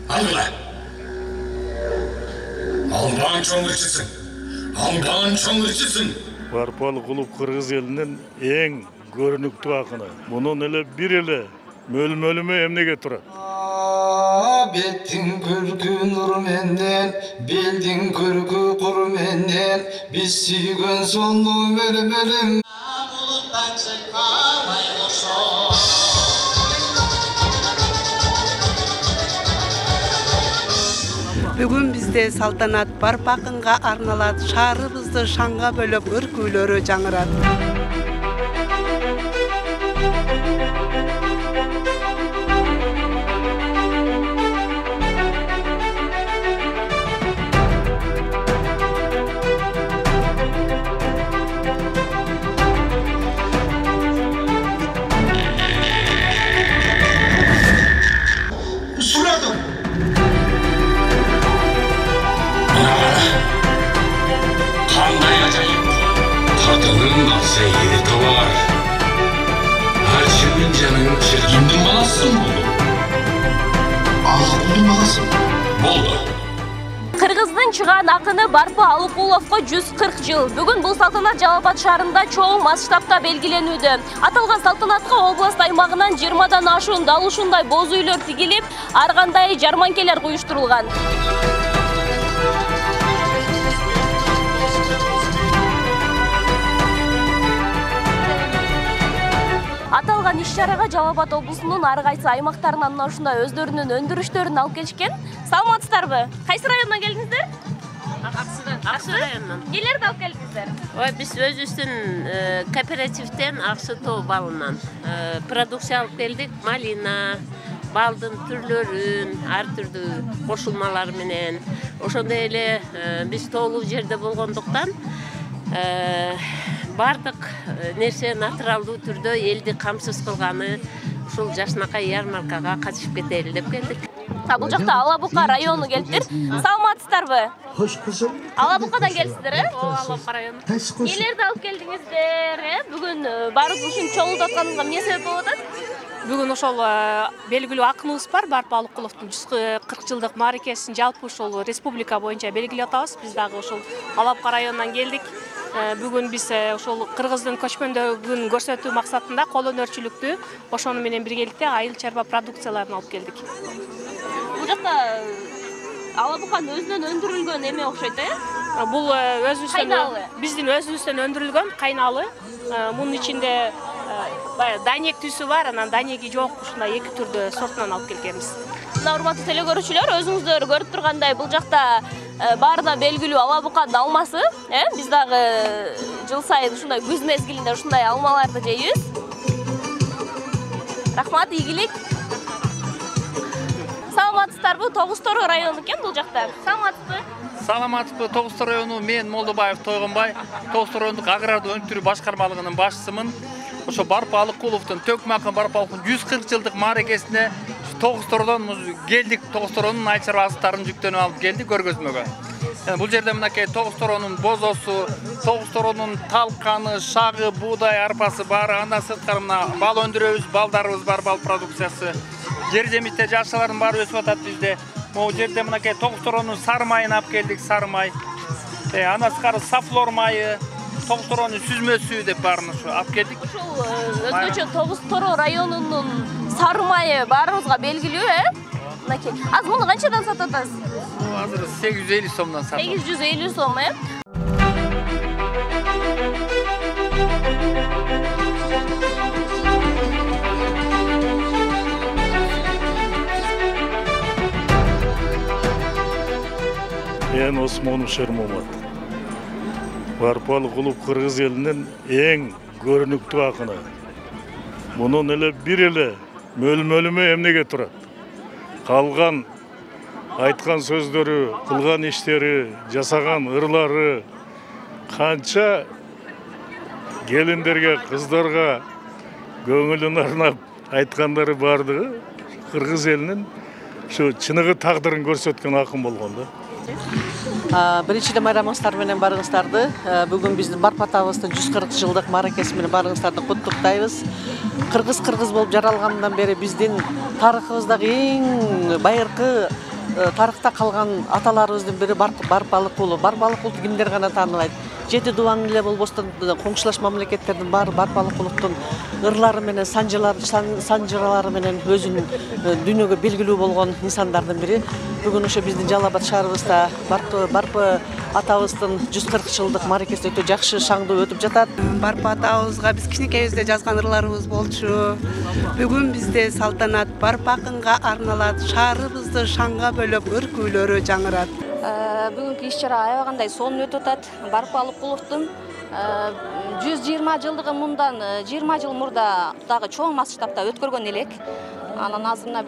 Алгыла. Албан чоңырчысың. Албан чоңырчысың. Барпал клуб кыргыз элинин эң көрүнүктүү акыны. Мунун эле бир эле мөлмөлүмө эмнеге турат? Беттин көркү нур менден, белдин көркү кур менден, биз сүйгөн сонду мөлмөлүм. Бүгүн бизде салтанат Барпа акынга арналат. Шаарыбызды шаңга бөлөп ыр күйлөрү жаңырат. Кыргыздын чыган акыны Барпа Алыкуловго 140 жыл. Бүгүн бул салтанат Жалал Абад шаарында чоң масштабта белгиленүүдө. Аталган салтанатка област аймагынан 20дан ашуун дал ушундай боз үйлөр тигилип, ар кандай жарманкелер уюштурулган. Аталган иш-чарага Жалал Абад облусунун ар кайсы аймактарынан мына ушундай өздөрүнүн өндүрүштөрүн алып келишкен. Саламатсыздарбы? Кайсы райондан келдиңиздер? Аксы районунан. Нелерди алып келдиңиздер? Ой, биз өзүбүздүн кооперативден Аксы тоо балынан продукция алып келдик. Малина, балдын түрлөрүн, ар түрдүү кошулмалар менен. Ошондой эле биз тоолуу жерде болгондуктан бардык нерсе натуралдуу түрдө элди камсыз кылганы ушул жакшынакай ярмаркага катышып кетели деп келдик. Бул жакта Алабука району келиптир. Саламатсыздарбы? Хош кызым. Алабукадан келипсиздер, Ооба, Алабука району. Нелерди алып келдиңиздер? Бүгүн баарыбыз ушунча чогулуп атканыбызга эмне себеп болуп атат? Бүгүн ошол белгилүү акыныбыз бар, Барпа Алыкуловдун 140 жылдык мааракесин жалпы ошол республика боюнча белгилеп атабыз. Биз дагы ошол Алабука районунан келдик. Бүгүн биз ошол кыргыздын көчмөндөгүн көрсөтүү максатында кол өнөрчүлүктү ошону менен биргеликте айыл чарба продукцияларын алып келдик. Бул жакта Алабуканын өзүнөн өндүрүлгөн эме окшойт, Бул биздин өзүбүздөн өндүрүлгөн кайналы. Мунун ичинде данек түсү бар, анан данеги жок, ушундай эки түрдө сортунан алып келгенбиз. Мына урматтуу телекөрүүчүлөр, өзүңүздөр көрүп тургандай бул жакта баарына белгилүү Алабуканын алмасы, биз дагы жыл сайын ушундай күз мезгилинде ушундай алмаларды жейбиз. Рахмат, ийгилик. Саламатсыздарбы? Тогуз Тороо району экен бул жакта. Саламатсызбы? Саламатсызбы? Тогуз Тороо району, мен Молдобаев Тойгонбай, Тогуз Тороондук агрардык өнүктүрүү башкармалыгынын башчысымын. Ошо Барпа Алыкуловдун Төкмакын Барпа Алыкуловдун 140 жылдык мааракесине Тогуз Тороодон келдик. Тогуз Тороонун айыл чарба азыктарын жүктөнүп алып келдик көргөзмөгө. Бул жерде мынакей Тогуз Тороонун бозосу, Тогуз Тороонун талканы, шагы, буудай, арпасы бар. Андан сырткары мына бал өндүрөбүз, балдарыбыз бар, бал продукциясы. Жер жемиште жашылардын баары өсүп атат бизде. Могу жерде мынакей Тогуз Тороонун сары майын алып келдик, сары май. Андан сырткары сафлор майы, Тогуз Тороонун сүзмөсү деп баарын ушу алып келдик. Ушул өзгөчө Тогуз Тороо районунун сары майы баарыбызга белгилүү, Мынакей. Азыр муну канчадан сатып атасыз? Азыр 850 сомдон сатып. 850 сом, Мен Осмонов Шермомат. Барпа Алыкулов кыргыз элинин эң көрүнүктүү акыны. Мунун эле бир эле мөлмөлүмө эмнеге турат? Калган айткан сөздөрү, кылган иштери, жасаган ырлары канча келиндерге, кыздарга көңүлүн арнап айткандары бардыгы кыргыз элинин şu чыныгы тагдырын көрсөткөн акын болгон да. Биринчиден майрамыңыздар менен барыңыздарды. Бүгүн биздин Барпа атабыздын 140 жылдык мааракеси менен барыңыздарды куттуктайбыз. Кыргыз болуп жаралгандан бери биздин тарыхыбыздагы эң байыркы тарыхта калган аталарыбыздын бири Барпалык кулу. Барпалык кулду кимдер гана тааныбайт. 7 дубан эле болбостон коңшулаш мамлекеттердин баары Барпалык кулуктун ырлары менен санжыралары менен өзүнүн дүйнөгө белгилүү болгон инсандардын бири. Бүгүн ошо биздин Жалал Абад шаарыбызда Барпы атабыздын 140 жылдык мааракеси өтө жакшы шаңдуу өтүп жатат. Барпы атабызга биз кичинекейибизде жазган ырларыбыз болчу. Бүгүн бизде салтанат Барпы акынга арналат. Шаарыбызды шаңга бөлөп ыр күйлөрү жаңырат. Бүгүнкү иш-чара аябагандай сонун өтүп атат. Барпы Алыкуловдун 120 жылдыгы мындан 20 жыл мурда дагы чоң масштабта өткөргөн элек. Анан азыр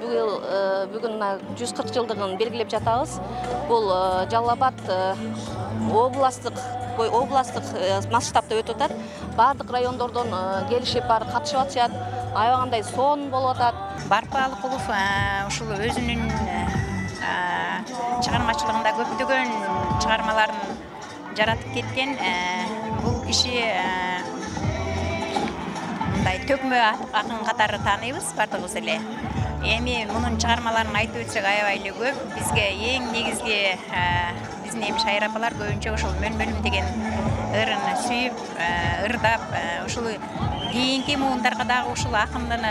бүгүн 140 жылдыгын белгилеп жатабыз. Бул Жалал Абад областтык масштабта өтүп атат. Бардык райондордон келишип катышып атышат. Аябагандай сонун болуп атат. Барпы Алыкулов ушул өзүнүн чыгармачылыгында көптөгөн чыгармаларын жаратып кеткен. Бул киши мындай төкмө акын катары тааныйбыз бардыгыбыз эле. Эми мунун чыгармаларын айтып өтсөк аябай эле көп. Бизге эң негизги биздин эми шайыр апалар көбүнчө ушул мөн-мөнүм деген ырын сүйүп, ырдап, ушул кийинки муундарга дагы ушул акындын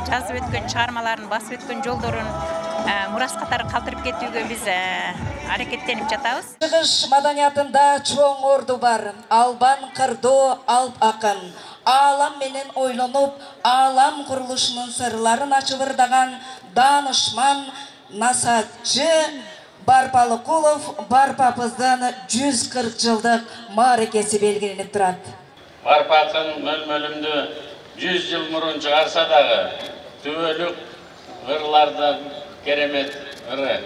жазып өткөн чыгармаларын, басып өткөн жолдорун мурас катары калтырып кетүүгө биз аракеттенип жатабыз. Чыгыш маданиятында чоң орду бар. Албан кырдоо алп акын. Алам менен ойлонуп, алам курулушунун сырларын ачып ырдаган данышман насаатчы Барпы Алыкулов Барпабыздын 140 жылдык мааракеси белгиленип турат. Барпы акын мөл-мөлүмдү 100 жыл мурун чыгарса дагы түбөлүк ырлардан керемет ыры.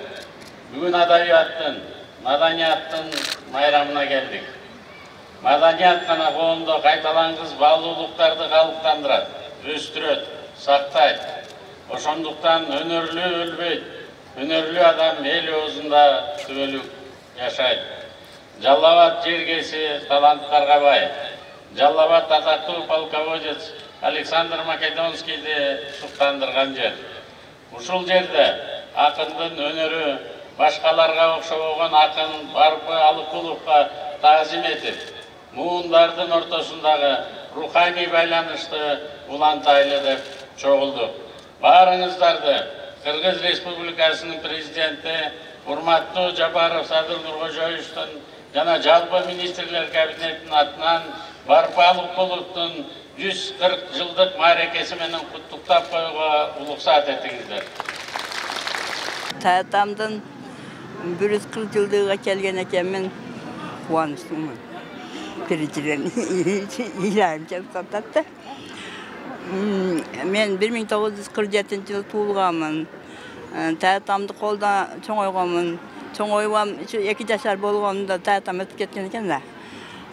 Бүгүн адабияттын, маданияттын майрамына келдик. Маданият гана коомдо кайталангыс баалуулуктарды калыптандырат, өстүрөт, сактайт. Ошондуктан өнөрлүү өлбөйт, өнөрлүү адам эл оозунда түбөлүк жашайт. Жалал Абад жергеси таланттарга бай. Жалал Абад атактуу полководец Александр Македонскийди суктандырган жер. Ушул жерде акындын өнөрү башкаларга окшобогон акын Барпы Алыкуловго таазим этип, муундардын ортосундагы руханий байланышты улантайлы деп чогулдук. Баарыңыздарды Кыргыз Республикасынын президенти урматтуу Жапаров Садыр Нуркожоевичтин жана жалпы министрлер кабинетинин атынан Барпы Алыкуловдун 140 жылдык мааракеси менен куттуктап коюуга улуксаат этиңиздер. Таатамдын 140 жылдыгына келген экенмин, кубанычтымын. Биринчиден ыйлайым жатат да. Мен 1947 жылы туулганмын. Таатамды колдо чоңойгонмун. Чоңойгам 2 жашар болгонумда таатам өтүп кеткен экен да.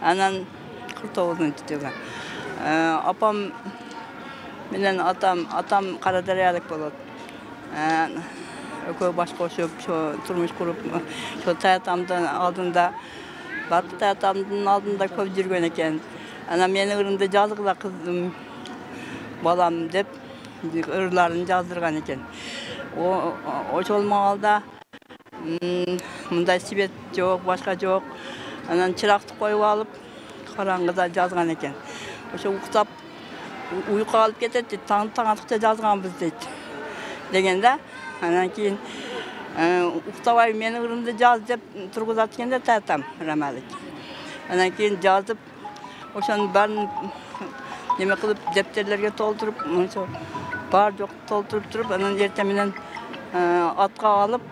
Анан 49-жылы. Апам менен атам Карадариялык болот. Экөө баш кошуп, турмуш куруп, таатамдын алдында, Барпы таатамдын алдында көп жүргөн экен. Анан менин ырымды жазгыла кыздым, балам деп ырларын жаздырган экен. Ошол маалда мындай свет жок, башка жок. Анан чыракты коюп алып, караңгыда жазган экен. Ошо уктап, уйку алып кетет дейт, таң атыкча жазганбыз дейт. Деген да. Анан кийин уктабай менин ырымды жаз деп тургузат экенде таатам Рамалик. Анан кийин жазып, ошонун баарын неме кылып дептерлерге толтуруп, ошо бар жок толтуруп туруп, анан эртең менен атка алып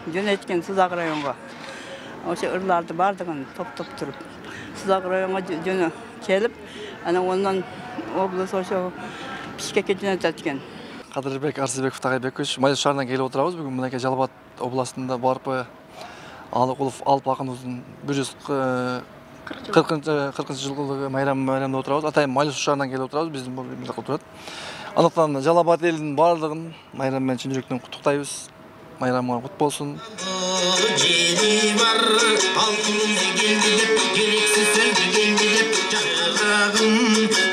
жөнөткөн Сызак районго. Ошо ырларды бардыгын топтоп туруп Сызак районго жөнө келип, анан ондан облус ошо Бишкекке жөнөтөт экен. Кадырбек Арсызбеков Тагайбекович, Майыл шаарынан келип отурабыз. Бүгүн мынакей Жалал Абад областында Барпы Алыкулов алп акыныбыздын 140 жылдыгы майрамында отурабыз. Атайын Майыл шаарынан келип отурабыз, биздин бул отурат. Андыктан Жалал Абад элинин баардыгын майрам менен чын жүрөктөн куттуктайбыз. Майрамыңар кут болсун. Жени бар, алтынымды келди деп, керексиз сөздү келди деп, жагым